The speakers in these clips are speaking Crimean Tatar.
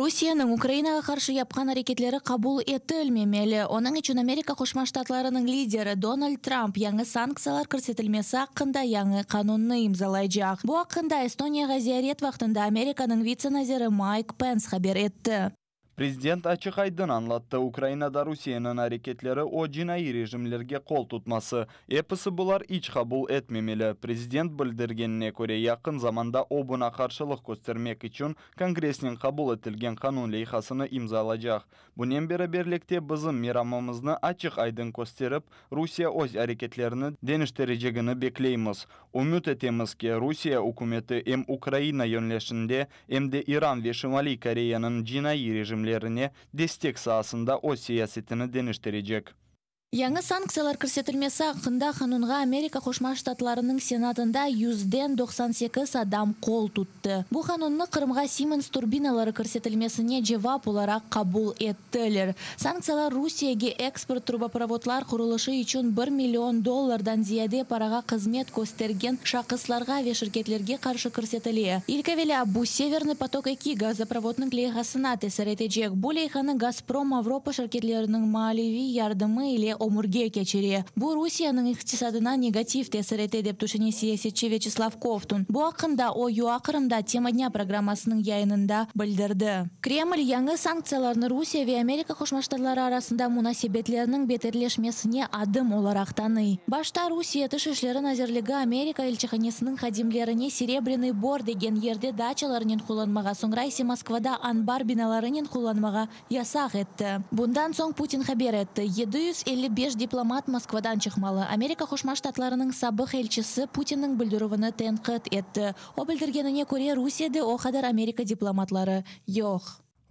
Rusiyeniñ Ukrainağa qarşı yapqan areketleri qabul etilmemeli, onıñ içün Amerika Qoşma Ştatlarınıñ lideri Donald Trump yañı sanktsiyalar kirsetilmesi aqqında yañı qanunnı imzalaycaq. Bu aqqında Estoniyağa ziyaret vaqtında Amerikanıñ vitse naziri Mayk Pens haber etti. Prezident açıq-aydın añlattı, Ukrainada Rusiyeniñ areketleri o cinaiy rejimlerge qol tutması, episi bular iç qabul etmemeli. Prezident bildirgenine köre, yaqın zamanda o buña qarşılıq köstermek içün Kongressnen qabul etilgen qanun leyhasını imzalacaq. Bunen beraberlikte bizim meramımıznı açıq-aydın kösterip, Rusiye öz areketlerini deñiştirecegini bekleymiz. Ümüt etemiz ki, Rusiye ükümeti em Ukraina yönleşinde, em de İran ve Şimaliy Koreyanıñ cinaiy rejimlerine destek saasında öz siyasetini deñiştirecek. Yañı sanktsiyalar kirsetilmesi aqqında qanunğa Amerika Qoşma Ştatlarınıñ Senatında yüzden 98 adam qol tuttı. Bu qanunnı Qırımğa Siemens turbinaları kirsetilmesine cevap olaraq qabul ettiler. Sanktsiyalar Rusiyege eksport truboprovodlar qurulışı içün bir million dollardan ziyade parağa hızmet köstergen şahıslarğa ve şirketlerge qarşı kirsetile. İlk evelâ, bu Severnıy potok eki gazoprovodnıñ leyhasına tesir etecek. Bu leyhanı Gazprom Avropa şirketleriniñ maliyeviy yardımı ile ömürge keçire. Bu Rusiyeniñ iqtisadına negativ tesir ete, dep tüşüne siyasetçi Vyaçeslav Kovtun. Bu aqqında o UA Qırımda Tema dnâ programmasınıñ yayınında bildirdi. Kreml yañı sanktsiyalarnı Rusiye ve Amerika Qoşma Ştatları arasında munasebetlerniñ beterleşmesine adım olaraq tanıy. Başta Rusiye Tış işleri nazirligi Amerika elçihanesiniñ hadimlerine Serebrânıy Bor degen yerde daçalarınen qullanmağa, soñra ise Moskvada anbar binalarınen qullanmağa yasaq etti. Bundan soñ Putin haber etti, 755 diplomat Moskvadan çıqmalı. Amerika Qoşma Ştatlarınıñ sabıq elçisi Putinniñ bildirüvini tenqit etti. O bildirgenine köre, Rusiyede o qadar Amerika diplomatları yoq.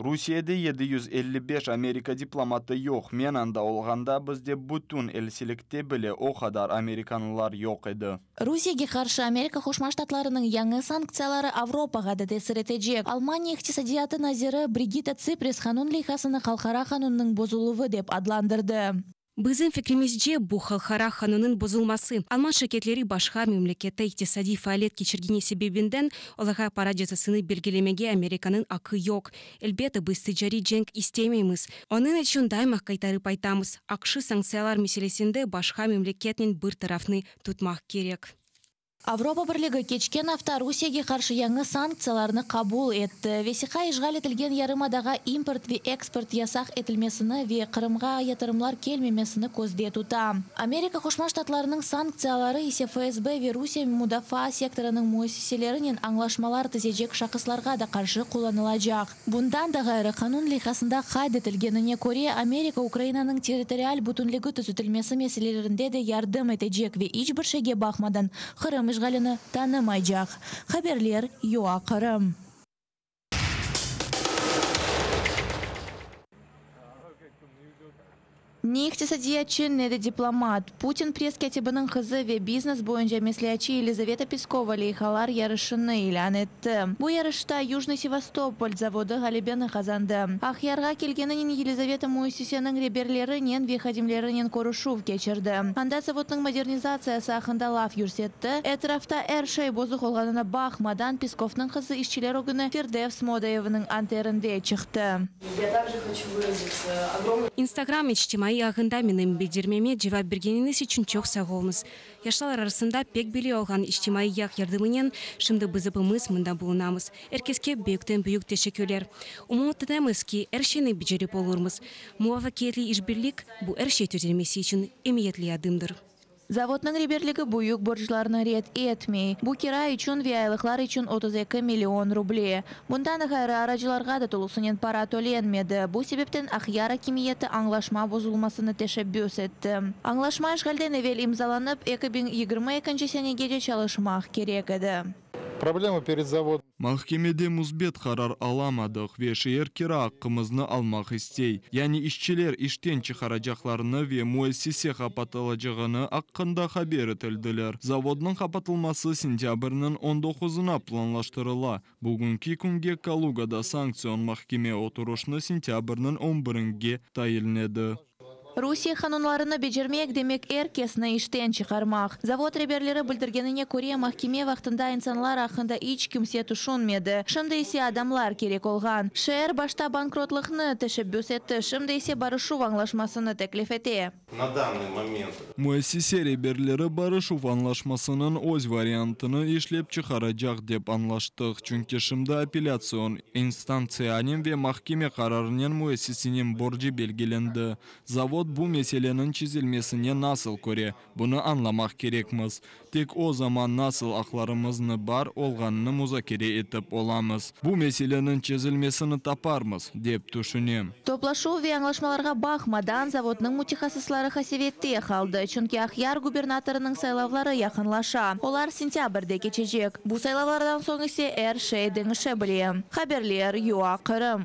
Rusiyede 755 Amerika diplomatı yoq. Men anda olğanda bizde bütün elçilikte bile o qadar amerikanlılar yoq edi. Rusiyege qarşı Amerika Qoşma Ştatlarınıñ yañı sanktsiyaları Avropağa da tesir etecek. Almaniya iqtisadiyatı naziri Brigitta Tsipras qanun leyhasını halqara qanunnıñ bozuluvı dep adlandırdı. Bizim fikrimizce, bu halqara qanunnıñ bozulması, alman şirketleri başqa memlekette iqtisadiy faaliyet keçirgeni sebebinden olarğa para cezasını belgilemege Amerikanıñ aqqı yoq. Elbette, biz ticariy cenk istemeymiz. Onıñ içün daima qaytarıp aytamız, AQŞ sanktsiyalar meselesinde başqa memleketnen bir tarafnı tutmaq kerek. Avropa Birligi keçken afta Rusiyege qarşı yañı sanktsiyalarnı qabul etti. Vesiqa işğal etilgen yarımadağa import ve eksport yasaq etilmesini ve Qırımğa yatırımlar kelmemesini közde tuta. Amerika Qoşma Ştatlarınıñ sanktsiyaları ise FSB ve Rusiye mudafaa sektorınıñ müessiselerinen añlaşmalar tizecek şahıslarğa da qarşı qullanılacaq. Bundan da ğayrı, qanun leyhasında qayd etilgenine köre, Amerika Ukrainanıñ territorial bütünligi tüzetilmesi meselelerinde de yardım etecek ve iç bir şeyge baqmadan Qırım işğalini tanımaycaq. Haberler, UA Qırım. Ne iqtisadiyatçı, ne de diplomat, Putin press-kâtibiniñ qızı ve biznes boyunca mesleatçı Yelizaveta Peskova leyhalar yarışını ilân etti. Bu yarışta Yujnıy Sevastopol zavodı ğalebeni qazandı. Aqyarğa kelgeninen Yelizaveta müessiseniñ reberlerinen ve hadimlerinen körüşüv keçirdi. Anda zavodnıñ modernizatsiyası aqqında laf yürsetti. Etrafta er şey bozuq olğanına baqmadan, Peskovnıñ qızı işçiler ögüne Firdevs moda eviniñ anterinde çıqtı. Instagram içtimaiy ağında menim bildirmeme cevap bergeniñiz içün çoq sağ oluñız. Yaşlar arasında pek belli olğan içtimaiy ağ yardımınen şimdi biz epimiz mında bulunamız. Er keske büyükten-büyük teşekkürler. Ümüt etemiz ki, er şeyni becerip olurmız. Muvafaqiyetli işbirlik, bu er şey tüzelmesi içün emiyetli adımdır. Zavodnıñ reberligi büyük borclarnı red etmey. Bu kira içün ve aylıqlar içün 32 million ruble. Bundan ğayrı, aracılarğa da tolusınen para tölenmedi. Bu sebepten Aqyar akimiyeti añlaşma bozulmasını teşebbüs etti. Añlaşma işğalden evel imzalanıp, 2022 senegece çalışmaq kerek edi. Problema pered zavodom. Mahkemede müsbet qarar alamadıq ve şeer kira aqqımıznı almaq istey. Yani işçiler işten çıqaracaqlarını ve müessise qapatılacağını aqqında haber etildiler. Zavodnıñ qapatılması sentâbrniñ on doquzına planlaştırıla. Bugünki künge Kalugada sanktsion mahkeme oturışnı sentâbrniñ on biringe tayinledi. Rusiye qanunlarını becermek, demek er kesni işten çıqarmaq. Zavod reberleri bildirgenine köre, mahkeme vaqtında insanlar aqqında iç kimse tüşünmedi, şimdi ise adamlar kerek olğan. Şeer başta bankrotlıqnı teşebbüs etti, şimdi ise barışuv añlaşmasını teklif ete. Na dannıy moment. Müessise reberleri barışuv añlaşmasınıñ öz variantını işlep çıqaracaq, dep añlaştıq, çünki şimdi apellâtsion instantsiyanen ve mahkeme qararınen müessiseniñ borcu belgilendi. Zavod bu meseleniñ çezilmesine nasıl köre, bunı añlamaq kerekmiz. Tek o zaman nasıl aqlarımıznı bar olğanını muzakere etip olamız. Bu meseleniñ çezilmesini taparmız, dep tüşünem. Toplaşuv ve añlaşmalarğa baqmadan, zavodnıñ mütehassısları qasevette qaldı, çünki Aqyar gubernatorınıñ saylavları yaqınlaşa, olar sentâbrde keçecek. Bu saylavlardan soñ ise er şey deñişe bile. Haberler, UA, Qırım.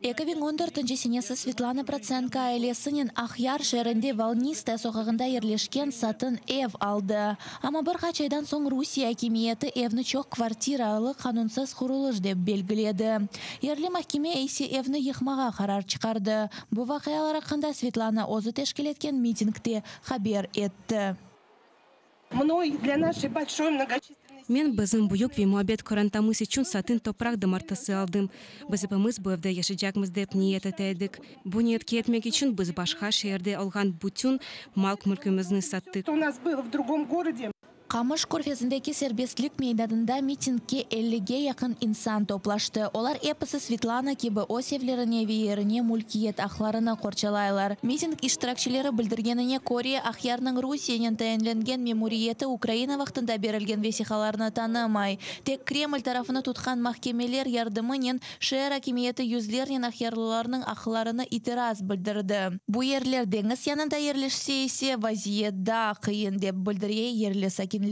2014 senesi Svetlana Protsenko ailesinen Aqyar şeerinde Volnistaya soqağında yerleşken satın ev aldı. Amma bir qaç aydan soñ Rusiye akimiyeti evni çoq kvartiralı qanunsız qurulış dep belgiledi. Yerli mahkeme ise evni yıqmağa qarar çıqardı. Bu vaqialar aqqında Svetlana özü teşkil etken mitingde haber etti. Men bizim büyük ve muabbet qorantamız içün satın topraq damartısı aldım. Biz epimiz bu evde yaşaycaqmız dep niyet ete edik. Bu niyetke yetmek içün biz başqa şeerde olğan bütün mal-mülkümizni sattıq. Qamış körfezindeki Serbestlik meydanında mitingge ellige yaqın insan toplaştı. Olar episi Svetlana kibi öz evlerine ve yerine mülkiyet aqlarını qorçalaylar. Miting iştirakçileri bildirgenine köre, Aqyarnıñ Rusiyenen tayinlengen memuriyeti Ukraina vaqtında berilgen vesiqalarnı tanımay. Tek Kreml tarafını tutqan mahkemeler yardımınen şeer akimiyeti yüzlernen aqyarlılarnıñ aqlarına itiraz bildirdi. Bu yerler deñiz yanında yerleşse ise, vaziyet daa qıyın, dep bildire yerli sakinler.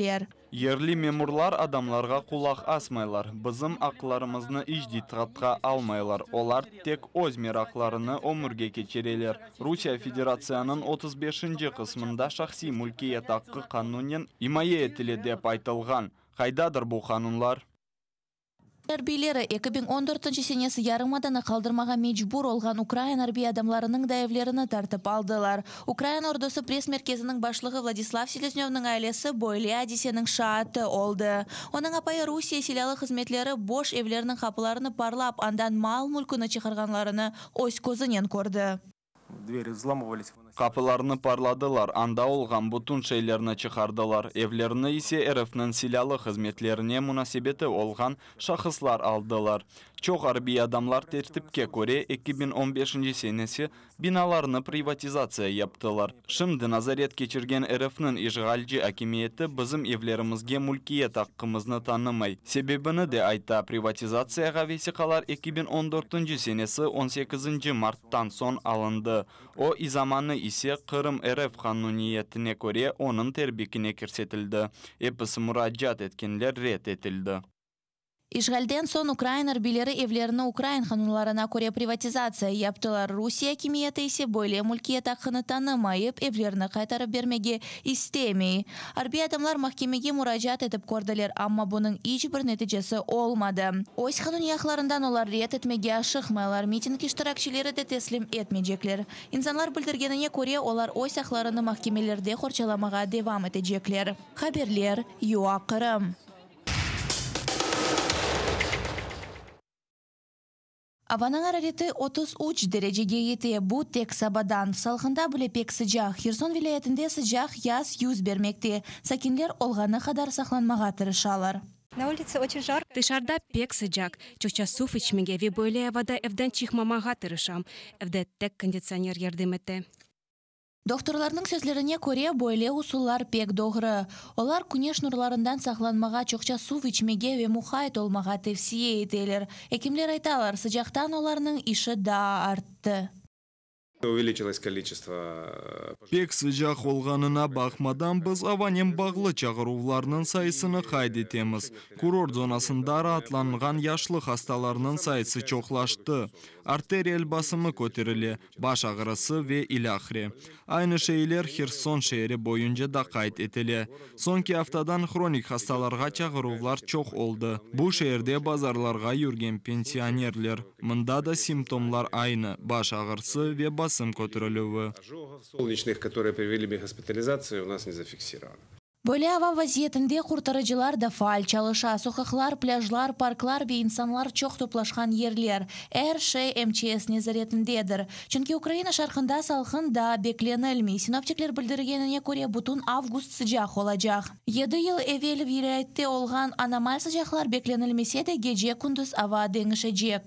Yerli memurlar adamlarğa qulaq asmaylar, bizim aqlarımıznı iç diqqatqa almaylar, olar tek öz meraqlarını ömürge keçireler. Rusiye Federatsiyanıñ 35-nci qısmında şahsiy mülkiyet aqqı qanunnen imaye etile dep aytılğan. Qaydadır bu qanunlar? Arbiyleri 2014 senesi yarımadanı qaldırmağa mecbur olğan ukrain arbiy adamlarınıñ da evlerini tartıp aldılar. Ukrain ordusı press-merkeziniñ başlığı Vladislav Seleznövniñ ailesi böyle adiseniñ şaatı oldı. Onıñ apayı Rusiye silâlı hızmetleri boş evlerniñ qapılarını parlap, andan mal-mülküni çıqarğanlarını öz közünen kördi. Двери взламывались. Qapılarnı parladılar, anda olğan bütün şeylerni çıqardılar. Evlerni ise RFnıñ silâlı hızmetlerine munasebeti olğan şahıslar aldılar. Çoq arbiy adamlar tertipke köre 2015 senesi binalarnı privatizatsiya yaptılar. Şimdi nazaret keçirgen RFnıñ işğalci akimiyeti bizim evlerimizge mülkiyet aqqımıznı tanımay. Sebebini de ayta, privatizatsiyağa vesiqalar 2014 senesi 18 marttan soñ alındı. O zamanı ise Qırım RF qanuniyetine köre onıñ terbikine kirsetildi. Episi muracaat etkenler red etildi. İşğalden soñ ukrain arbiyleri evlerini ukrain qanunlarına köre privatizatsiya yaptılar. Rusiye akimiyeti ise böyle mülkiyet aqqını tanımayıp, evlerini qaytarıp bermege istemey. Arbiy adamlar mahkemege muracaat etip kördiler, amma bunıñ iç bir neticesi olmadı. Öz qanuniy aqlarından olar red etmege aşıqmaylar, miting iştirakçileri de teslim etmeycekler. İnsanlar bildirgenine köre, olar öz aqlarını mahkemelerde qorçalamağa devam etecekler. Haberler, UA Qırım. Avanıñ arareti 33 derecege yete, bu tek sabadan. Salqında bile pek sıcaq. Herson vilâyetinde sıcaq yaz yüz bermekte. Sakinler olğanı qadar saqlanmağa tırışalar. Na uliце очень жарко. Tışarıda pek sıcaq. Çoqça suv içmege ve böyle avada evden çıqmamağa tırışam. Evde tek konditsioner yardım ete. Doktorlarnıñ sözlerine köre, böyle usullar pek doğru. Olar küneş nurlarından saqlanmağa, çoqça suv içmege ve muqayt olmağa tevsiye eteler. Ekimler aytalar, sıcaqtan olarnıñ işi daa arttı. Увеличилось количество Pek sıcaq olğanına baqmadan, biz avanen bağlı çağıruvlarnıñ sayısını qayd etemiz. Kurort zonasında raatlanğan yaşlı hastalarnıñ sayısı çoqlaştı. Arterial basımı köterile, baş ağrısı ve ilâhre. Aynı şeyler Herson şeeri boyunca da qayd etile. Soñki aftadan hronik hastalarğa çağıruvlar çoq oldı. Bu şeerde bazarlarğa yürgen pensionerler. Mında da simptomlar aynı, baş ağrısı ve basım köterilüvi. Ожогов солнечных, которые привели к госпитализации, у нас не зафиксировано. Böyle ava vaziyetinde qurtarıcılar da faal çalışa. Soqaqlar, plâjlar, parklar ve insanlar çoq toplaşqan yerler. Er şey MÇS nezaretindedir. Çünki Ukraina şarqında salqın da beklenilmey. Sinoptikler bildirgenine köre, bütün avgust sıcaq olacaq. 7 yıl evel vilâyette olğan anomal sıcaqlar beklenilmese de, gece-kündüz ava deñişecek.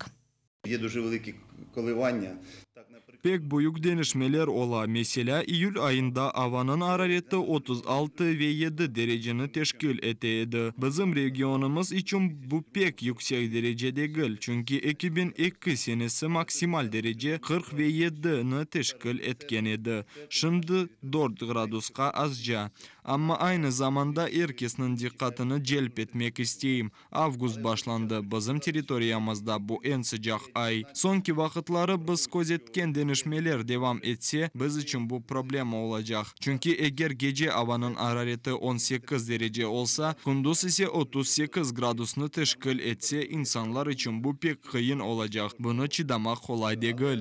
Є дуже великі коливання. Так, наприклад, Pek büyük deñişmeler ola. Meselâ, iyül ayında avanıñ arareti 36 ve 7 dereceni teşkil ete edi. Bizim regionımız içün bu pek yüksek derece degil, çünki 2002 senesi maksimal derece 40 ve 7-ni teşkil etken edi. Şimdi 4 gradusqa azca. Amma aynı zamanda er kesniñ diqqatını celp etmek isteyim. Avgust başlandı. Bizim territoriyamızda bu eñ sıcaq ay. Soñki vaqıtları biz közetken deñişmeler devam etse, biz içün bu problema olacaq. Çünki eger gece avanıñ arareti 18 derece olsa, kündüz ise 38 gradusnı teşkil etse, insanlar içün bu pek qıyın olacaq. Bunı çıdamaq qolay degil.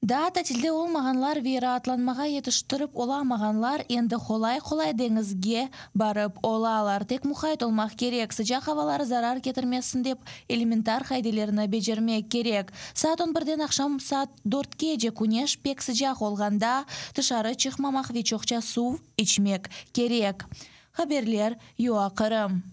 Daa tatilde olmağanlar ve raatlanmağa yetiştirip olamağanlar endi qolay-qolay deñizge barıp olalar. Tek muqayt olmaq kerek, sıcaq avalar zarar ketirmesin dep, elementar qaidelerni becermek kerek. Saat 11-den aqşam saat 4-kece küneş pek sıcaq olğanda tışarı çıqmamaq ve çoqça suv içmek kerek. Haberler, UA Qırım.